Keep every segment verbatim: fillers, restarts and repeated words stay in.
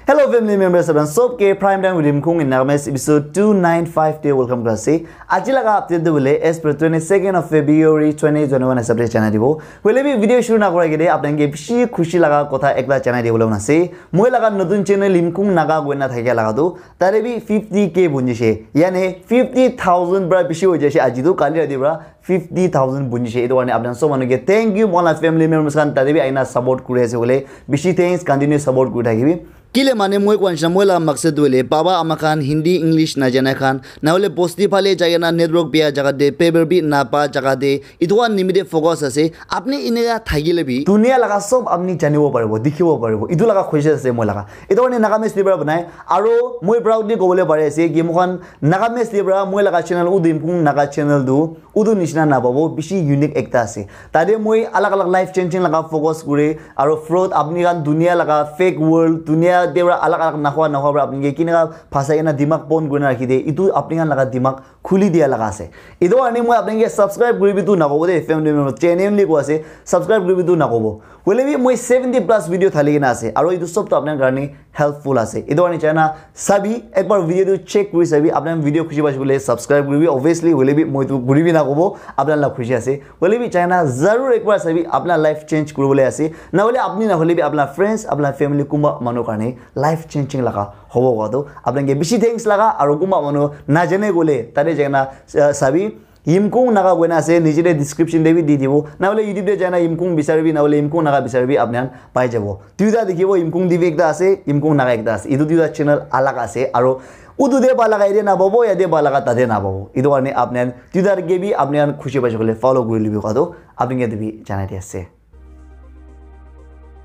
Hello family members, apni sob ke Prime Time with Yimkung in Nagamese episode two nine five te welcome kuri ase. Aji laga update tu bole as per twenty-second of February twenty twenty-one hisab te janai dibo. Hoile bi video shuru na kora agete apni ke bishi khushi laga kotha ekta janai dibole mon ase. Moi laga notun channel Yimkung Naga koina thakia laga tu tate bi fifty K bunjise. Yani fifty thousand pra bishi hoi jaise aji tu, kali rati pra fifty thousand bunjise. Etu karne apni sob manu ke thank you. Moi la family members khan tate bi aina support kuri ase bole bishi thanks, continue support kuri thakibi. Kile mane moi koa nishina moi la maksad tu hoile baba ama khan Hindi English najana khan na hoile bosti phale jai kena network bia jaga te paper bi napa jaga te etu khan nimite focus ase. Apni eneka thakile bi dunia laga sob apni janibo paribo, dikhibo paribo. Etu laga khushi ase moi laga. Etu karne Nagamese te para banai aro moi proudly kobole pari ase ki moi khan Nagamese te para moi laga channel Udu Yimkung Naga channel tu utu nishina napabo, bishi unique ekta ase. Tate moi alag alag life changing laga focus kure aro fraud, apni khan dunia laga fake world, dunia te para alag alag nahua nahua para apni ke kineka phasai kena dimag pon kurina rakhi de, etu apni khan laga dimag khuli dia laga ase. Etu karne moi apni ke subscribe kuribi tu nakobo de, family member genuinely ko ase, subscribe kuribi tu nakobo. Hoile bi moi seventy plus video thali kena ase aro etu sob tu apni karne helpful ase. Etu karne chana sabi, ekbar video tu check kuri sabi, apni video khushi paise bole subscribe kuribi obviously, hoile bi moi tu kuribi nakobo, apni la khushi ase. Hoile bi chana zarur ekbar sabi, apni life change kuribole ase. Na hoile apni na hoile bi apni friends, apni family kumba manu karne life changing laga hobo koa tu apni ke bishi thanks laga aro kumba manu najane gole tate jai kena, uh, sabi. Yimkung Naga koina ase, niche te description te bi di dibo. Na hoile YouTube te jai na Yimkung bisari bi, na hoile Yimkung Naga bisari bi apni khan pai jabo. Duita dikhibo, Yimkung T V ekta ase, Yimkung Naga ekta ase. Etu duita channel alag ase. Aro utu te ba laga yate napabo, yate ba laga tate napabo. Etu karne apni khan duita ke bi apni khan khushi paise koile follow kuri libi koa tu apni ke bi janai di ase.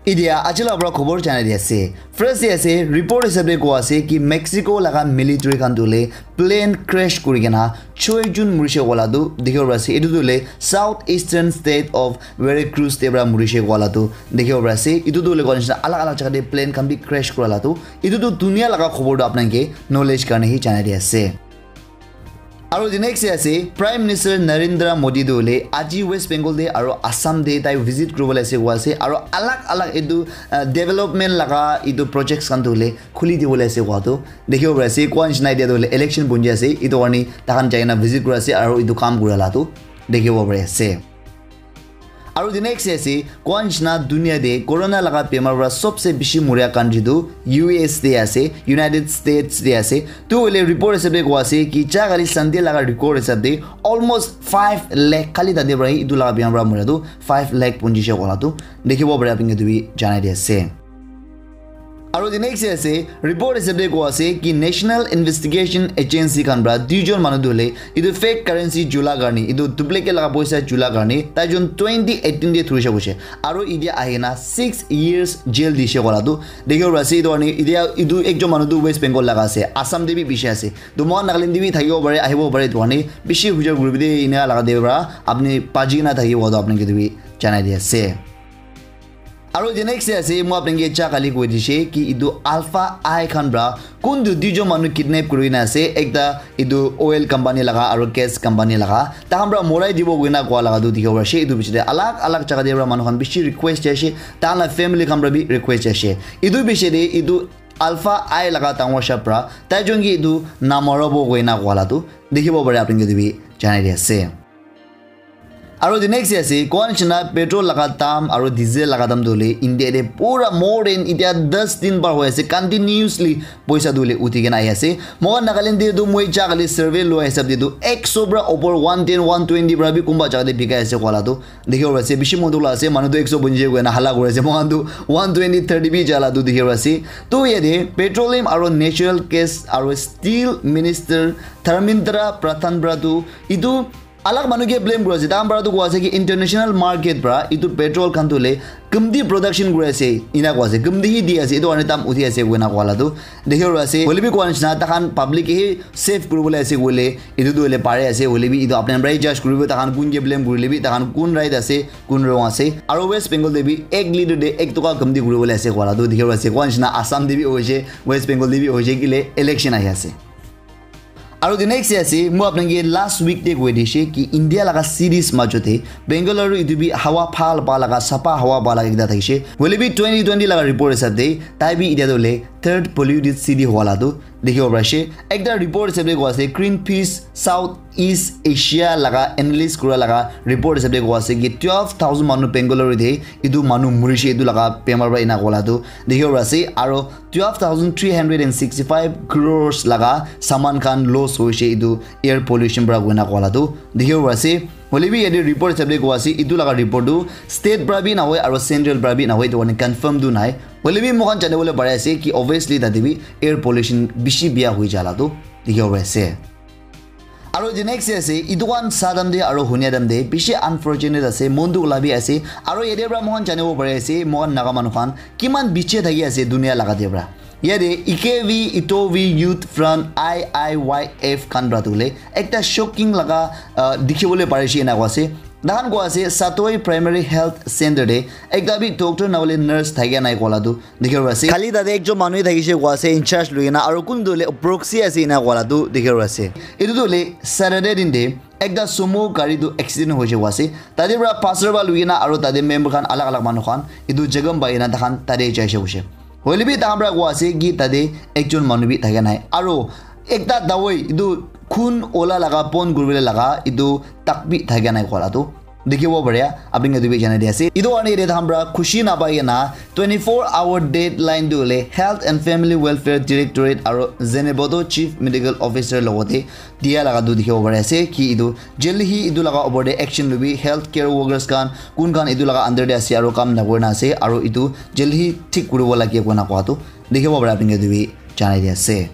Idia aji la para khobor janai di ase. First de ase, report hisab de koa ase ki Mexico laga military khan tu le plane crash kuri kena choi jun murishe wala tu dikhibo pari ase. Etu tu le South Eastern State of Veracruz te para murishe wala tu dikhibo pari ase. Etu tu le koa nishina alag alag jaga te plane khan bi crash kura la tu. Etu tu dunia laga khobor tu apni ke knowledge karne hi janai di ase. Aro the next day ase, Prime Minister Narendra Modi tu hoile aji West Bengal te aro Assam te tai visit kuribole ase koa ase, aro alag alag etu, uh, development laga etu projects khan tu hoile khuli dibole ase koa tu dikhibo pari ase. Koa nishina etia tu hoile election bunji ase, etu karne takhan jai kena visit kuri ase aro etu kam kura la tu dikhibo pari ase. Aro the next day ase, koa nishina dunia te corona laga bemar para sobse bishi moria country tu U S te ase, United States te ase. Tu hoile report hisab de koa ase ki ja kali Sunday laga record hisab de almost five lakh kali tate para etu laga bemar para moria tu five lakh punjishe koa la tu dikhibo pari apni ke tu bi janai di ase. Aro the next day ase, report hisab de koa ase ki National Investigation Agency khan para duijon manu tu hoile etu fake currency jula karne, etu duplicate laga poisa jula karne, tai jon twenty eighteen te thurishe koishe. Aro idia ahi kena six years jail dishe koa la tu dikhibo pari ase. Etu karne idia etu ekjon manu tu West Bengal laga ase, Assam te bi bishi ase. Tu moi Nagaland te bi thakibo pare, ahibo pare, etu karne bishi hujai kuribi de, eneka laga de para apni baji kena thakibo tu apni ke tu bi janai di ase. Aro the next day ase, moi apni ke ja kali koi dishe ki etu Alpha Eye khan para kuntu duijon manu kidnap kuri kena ase, ekta etu oil company laga aro gas company laga, takhan para morai dibo koina koa laga tu dikhibo pari ase. Etu piche te alag alag jaga te para manu khan bishi request jai ase, takhan la family khan para bi request jai ase. Etu piche te etu Alpha Eye laga dangor sha para tai jon ke etu namorabo koina koa la tu dikhibo pari apni ke tu bi janai di ase. Aro the next day ase, koa nishina petrol laga dam aro diesel laga dam tu hoile India te pura more than itia das din par hoi ase, continuously poisa tu hoile uthi kena ahi ase. Moi Nagaland te tu moi ja kali survey lua hisab de tu ekso para upor, one ten, one twenty para bi kunba jaga te bikai ase koa la tu dikhibo pari ase. Bishi mon dukh la ase, manu tu ekso bunji koina hala kuri ase, moi khan tu one twenty, thirty bi ja la tu dikhibo pari ase. Tu yate petroleum aro natural gas aro steel minister Dharmendra Pradhan para tu etu alag manu ke blame kuri ase, takhan para tu koa ase ki international market para etu petrol khan tu hoile kamti production kuri ase, ena koa ase, kamti hi di ase, etu karne dam uthi ase koina koa la tu dikhibo pari ase. Hoile bi koa nishina takhan public ke hi save kuribole ase koile etu tu hoile pare ase, hoile bi etu apni khan para hi judge kuribo, takhan kun ke blame kurile bi, takhan kun right ase, kun wrong ase. Aro West Bengal te bi ek liter te ek toka kamti kuribole ase koa la tu dikhibo pari ase. Koa nishina Assam te bi hoise, West Bengal te bi hoise, kile election ahi ase. Aro the next day ase, moi apni ke last week te koi dishe ki India laga cities majo te Bengaluru etu bi hawa bhal pa laga, sapa hawa pa laga ekta thakishe. Hoile bi twenty twenty laga report hisab te tai bi itia tu hoile third polluted city howa la tu dikhibo pari ase. Ekta report hisab de kowa ase, Greenpeace South East Asia laga analyst kura laga report hisab de kowa ase ki twelve thousand manu Bangalore de itu manu murishe itu laga bemar para ena kowa la tu dikhibo pari ase. Aro twelve thousand three hundred and sixty five crores laga saman khan loss hoishe itu air pollution para koina kowa la tu dikhibo pari ase. Hoile bi yate report hisab de kowa ase, itu laga report tu state para bi nahoi aro central para bi nahoi, itu karne confirm tu nai. Hoile bi moikhan jane bole pari ase ki obviously tate bi air pollution bishi biya hoi jala tu dikhibo pari ase. Aro the next ase, itu khan sa time de aro hunia time de bishi unfortunate ase, mon dukh la bi ase. Aro yate para moikhan janibo pari ase, moikhan Naga manu khan kiman biche thaki ase dunia laga de para. Yate Ikevi Itovi Youth Front I I Y F khan para tu hoile ekta shocking laga, ah, dikhi bole pari ase ena kowa ase. Tahan kowa ase Satoi Primary Health Center de ekta bi doctor na hoile nurse thakia nai kowa la tu dikhibo pari ase. Khali tate ekjon manu thakishe kowa ase in charge lui kena, aro kun tu hoile proxy ase ena kowa la tu dikhibo pari ase. Itu tu hoile Saturday din de ekta sumo gari tu accident hoishe kowa ase. Tate para pastor ba lui kena aro tate member khan alag alag manu khan itu jagam pai kena tahan tate jaishe koishe. Hoile bi tahan para kowa ase ki tate ekjon manu bi thakia nai. Aro ekta dawai itu khun ola laga, bon kuribole laga itu tak bi thakia nai kowa la tu dikhibo pare, apni khan etu bi janai di ase. Itu karne yate tahan para khushi napai kena twenty-four hour deadline tu hoile Health and Family Welfare Directorate aro Zheneboto Chief Medical Officer logote dia laga tu dikhibo pari ase ki itu jaldi hi itu laga opor te action lobi, healthcare workers khan kun khan itu laga under te ase aro kam nakurina ase aro itu jaldi hi thik kuribo lage koina kowa tu dikhibo pare, apni khan etu bi janai di ase.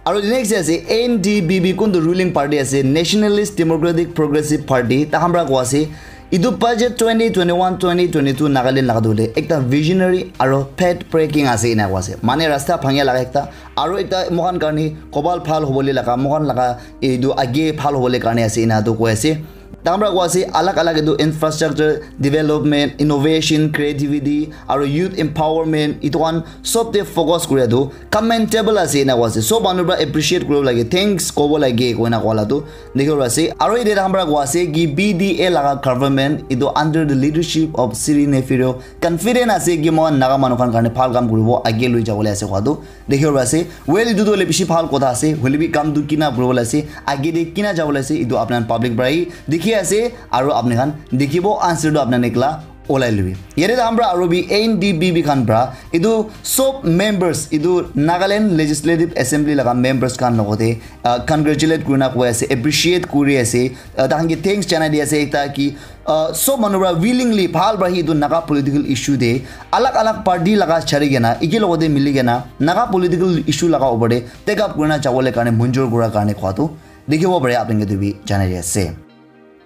Aro the next ase N D P P, kun tu ruling party ase, Nationalist Democratic Progressive Party, tahan para kowa ase itu budget twenty twenty-one twenty twenty-two Nagaland laga tu hoile ekta visionary aro path breaking ase ena kowa ase. Mane rasta bhangia laga ekta, aro ekta moikhan karne kobal bhal hobole laga, moikhan laga etu age bhal hobole karne ase ena tu koi ase. Tahan para kowa ase alag alag etu infrastructure development, innovation, creativity aro youth empowerment, itu khan sob te focus kuria tu commendable ase ena kowa ase. Sob manu para appreciate kuribo lage, thanks kobo lage koina kowa la tu dikhibo pari ase. Aro yate tahan para kowa ase ki B D A laga government itu under the leadership of Sri Neiphiu confident ase ki moikhan Naga manu khan karne bhal kam kuribo, age lui jabole ase kowa tu dikhibo pari ase. Well, itu tu hoile bishi bhal kotha ase, hoile bi kam tu kina kuribo la ase, age de kina jabo la ase, itu apni khan public para hi dikhi ase aro apni khan dikhibo, answer tu apni khan ekla olai lobi. Yate tahan para aro bi N D P P khan para itu sob members, itu Nagaland Legislative Assembly laga members khan logote, ah, congratulate kurina koi ase, appreciate kuri ase, ah, tahan ke thanks janai di ase ekta ki, ah, sob manu para willingly bhal para hi itu Naga political issue te alag alag party laga chari kena eke logote mili kena Naga political issue laga opor te take up kurina jabole karne munjur kura karne kowa tu dikhibo pare, apni khan etu bi janai di ase.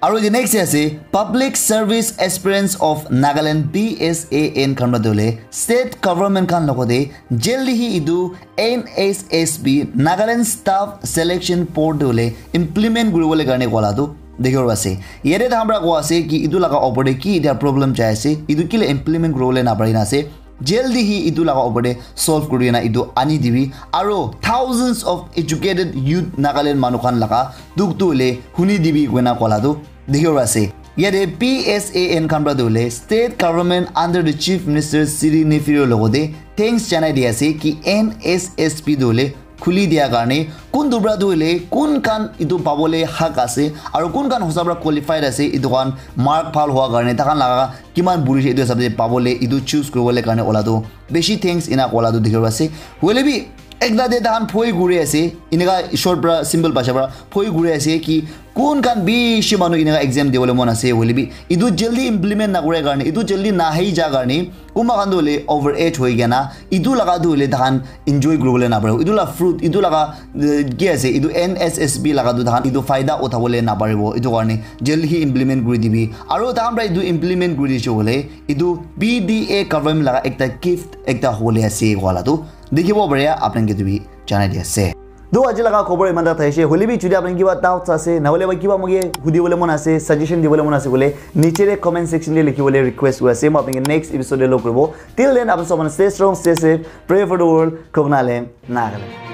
Aro the next ase Public Service Aspirants of Nagaland, P S A N khan para tu hoile state government khan logote jaldi hi itu N S S B, Nagaland Staff Selection Board tu hoile implement kuribole karne kowa la tu dikhibo pari ase. Yate tahan para kowa ase ki itu laga opor te ki etia problem jai ase, itu kile implement kuribole napari na ase, jaldi hi itu laga opor te solve kuri kena itu ani dibi, aro thousands of educated youth Nagaland manu khan laga dukh tu hoile huni dibi koina kowa la tu dikhibo pari ase. Yate P S A N khan para tu hoile state government under the Chief Minister Sri Neiphiu logote thanks janai di ase ki N S S B tu hoile khuli dia karne, kun tu para tu hoile kun khan itu pabole hak ase aro kun khan hosa para qualified ase, itu khan mark bhal howa karne, tahan laga kiman buri ase itu hisab te pabole, itu choose kuribole karne ola tu bishi thanks ena kowa la tu dikhibo pari ase. Hoile bi ekta de tahan phoi kuri ase, eneka short para simple bhasha para phoi kuri ase ki kun khan bishi manu eneka exam dibole mon ase, hoile bi itu jaldi implement nakura karne, itu jaldi nahi ja karne, kunba khan tu hoile over age hoi kena itu laga tu hoile tahan enjoy kuribole napare. Itu la fruit, itu laga, eh, ki ase, itu N S S B laga tu tahan itu faida uthabole naparibo. Itu karne jaldi hi implement kuri dibi. Aro tahan para itu implement kuri dishe hoile itu P D A government laga ekta gift ekta hobole ase kowa la tu dikhibo pare, apni khan etu bi janai di ase. To aji laga khobor iman ta thaise, hoile bi jodi apni kiba doubts ase, na hoile ba kiba moke hudi bole mon ase, suggestion di bole mon ase bole, niche te comment section te likhi bole request kuri ase. Moi apni ke next episode te log koribo. Till then, apni sob manu stay strong, stay safe, pray for the world, Khoknaland, Nagaland.